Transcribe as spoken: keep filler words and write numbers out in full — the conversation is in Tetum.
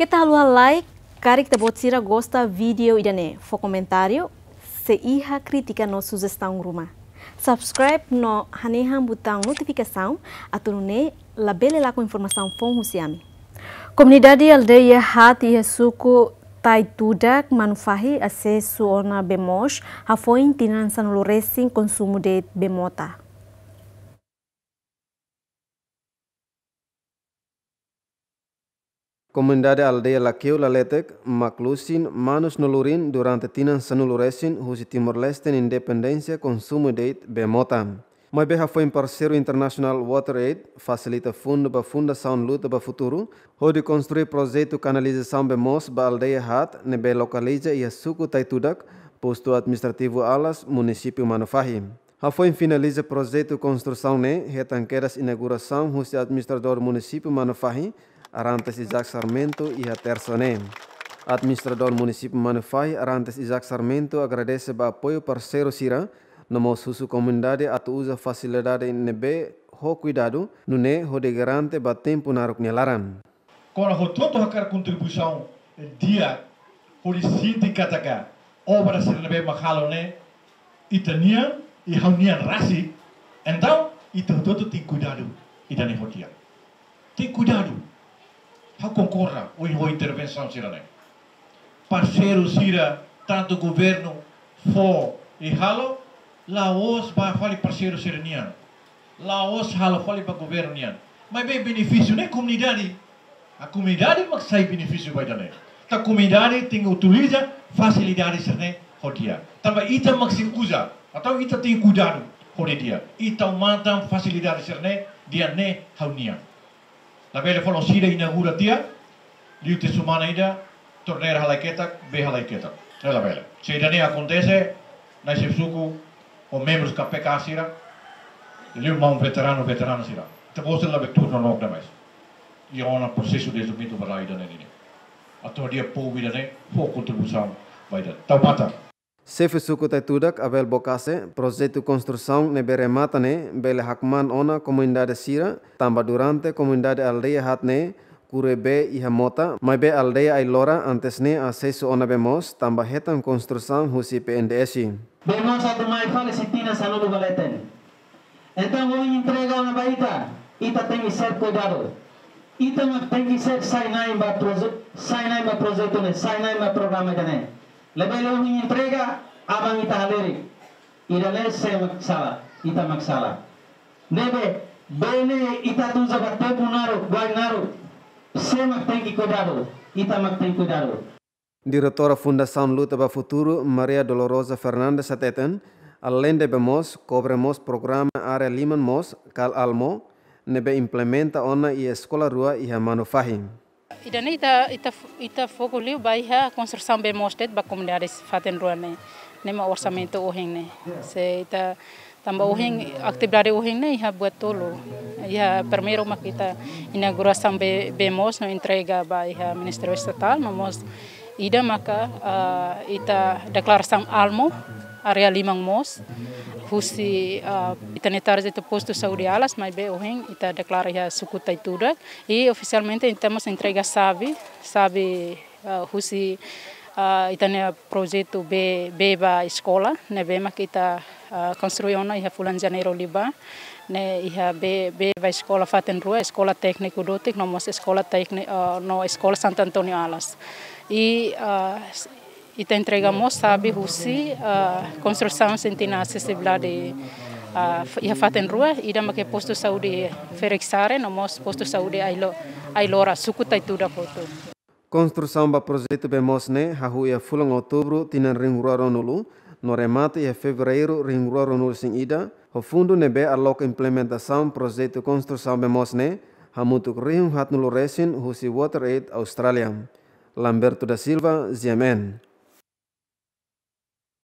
Keta haluha like, karik ita-boot sira gosta vídeo ida-ne'e, fó komentáriu, se iha krítika no sujestaun ruma. Subscribe no hanehan butaun notifikasaun, atu nune'e labele lakon informasaun foun husi ami. Komunidade aldeia haat iha suku Taitudak, Manufahi, asesu ona bee moos, hafoin tinan sanulu resin konsumu de'it bee mota. Komunidade aldeia Lakeu Laletek, Maklusin, Manus no Lurin durante tinan sanulu resin husi Timor-Leste nia independénsia konsumu de'it bee mota. Maibé hafoin parseiru internasionál WaterAid fasilita fundu ba Fundasaun Luta ba Futuru, hodi konstrui projetu kanalizasaun bee moos ba aldeia haat ne'ebé lokaliza iha suku Taitudak, postu administrativu Alas, munisípiu Manufahi. Hafoin finaliza projetu konstrusaun ne'e, hetan kedas inaugurasaun husi administradór munisípiu Manufahi, Arantes Isaac Sarmento, iha Tersa ne'e. Administradór munisípiu Manufahi, Arantes Isaac Sarmento, agradese ba apoiu parseiru sira, no mós husu komunidade atu uza fasilidade ne'ebé ho kuidadu, nune'e hodi garante ba tempu naruk nia laran. Kona hotu-hotu hakarak kontribuisaun di'ak hodi sente katak obra sira ne'ebé mak halo ne'e ita-nian, i ha'u-nian rasik, entaun ita hotu-hotu tenke kuidadu ida-ne'e ho di'ak. Tenke kuidadu. Ha'u konkorda ho, ho intervensaun sira-ne'e. Parseiru sira, tantu governu fó i halo, la'ós ba fali parseiru sira-nian. La'ós halo fali ba governu nian. Maibé benefísiu ne'e komunidade. A komunidade mak sai benefísiu ba ida-ne'e. Entaun komunidade tenke utiliza fasilidade sira-ne'e ho di'ak. Tanba ita mak sei uza, entaun ita tenke kuidadu ho di'ak. Ita matan fasilidade sira-ne'e, di'ak ne'e ha'u-nian. Labele fali sira inaugura tiha, liu tiha semana ida, torneira halai ketak, bee halai ketak. Ne'e labele. Se ida-ne'e akontese, nai xefe suku, ho membrus K P K sira, liu maun veteranu, veterana sira. Ita-boot sira labele tuur nonook demais. Iha ona prosesu dezenvolvimentu ba rai ida-ne'e nian. Atu di'ak povu ida-ne'e, fó kontribuisaun ba ida. Tau matan. Xefe suku Taitudak, Abel Bokase, projetu konstrusaun ne'ebé remata ne'e bele hakmaan ona komunidade sira, tanba durante komunidade aldeia haat ne'e kure bee iha mota, maibé aldeia Ailora antes ne'e asesu ona bee moos, tanba hetan konstrusaun husi P N D S. Bee moos atu mai fali husi tinan sanulu ba leten. Entaun, ohin entrega ona ba ita, ita tenke ser kuidadu. Ita mak tenke ser sai-na'in ba proje-, sai-na'in ba projetu ne'e, sai-na'in ba programa ida-ne'e. Labele ohin entrega, aban ita halerik. Ida-ne'e sé mak sala, ita mak sala. Ne'ebé, bee ne'e ita atu uza ba tempu naruk, bain naruk. Sé mak tenke kuidadu, ita mak tenke kuidadu. Diretora Fundasaun Luta ba Futuru, Maria Dolorosa Fernandes hateten, aleinde bee moos, kobre mós programa área liman moos, kal ALMO, ne'ebé implementa ona iha eskola rua iha Manufahi. Ida-ne'e ita, ita, ita foku liu ba iha konstrusaun bee moos de'it ba komunidade fatin rua ne'e, ne'e mak orsamentu ohin ne'e. Se ita Tanba ohin, atividade ohin ne'e iha buat tolu. Iha primeiru mak ita inaugurasaun bee, bee moos no entrega ba iha Ministériu Estatál, no mós ida maka, ah, ita deklarasaun ALMO, área liman moos, husi, ah, ita-nia target postu saúde Alas, maibé ohin ita deklara iha suku Taitudak, i ofisialmente ita mós entrega xave, xave ah, husi, ah, ita-nia projetu bee, bee ba eskola, ne'ebé mak ita, ah, konstrui ona iha fulan Janeiru liubá, ne'e iha bee, bee ba eskola fatin rua, Eskola Tékniku Dotik, no mós Eskola Tékni-, ah, no Eskola Santo António Alas. I, ah, s-, ita entrega mós xave husi, ah, konstrusaun sente na asesibilidade, ah, f-, iha fatin rua, ida mak postu saúde Ferixare, no mós postu saúde Ailo-, Ailora, suku Taitudak hotu. Konstrusaun ba projetu bee moos ne'e hahú iha fulan Outubru tinan rihun rua ruanulu, no remata iha Fevereiru rihun rua ruanulu-resin-ida, ho fundu ne'ebé aloka implementasaun projetu konstrusaun bee moos ne'e, hamutuk rihun haatnulu resin husi WaterAid Austrália. Lamberto da Silva, G M N.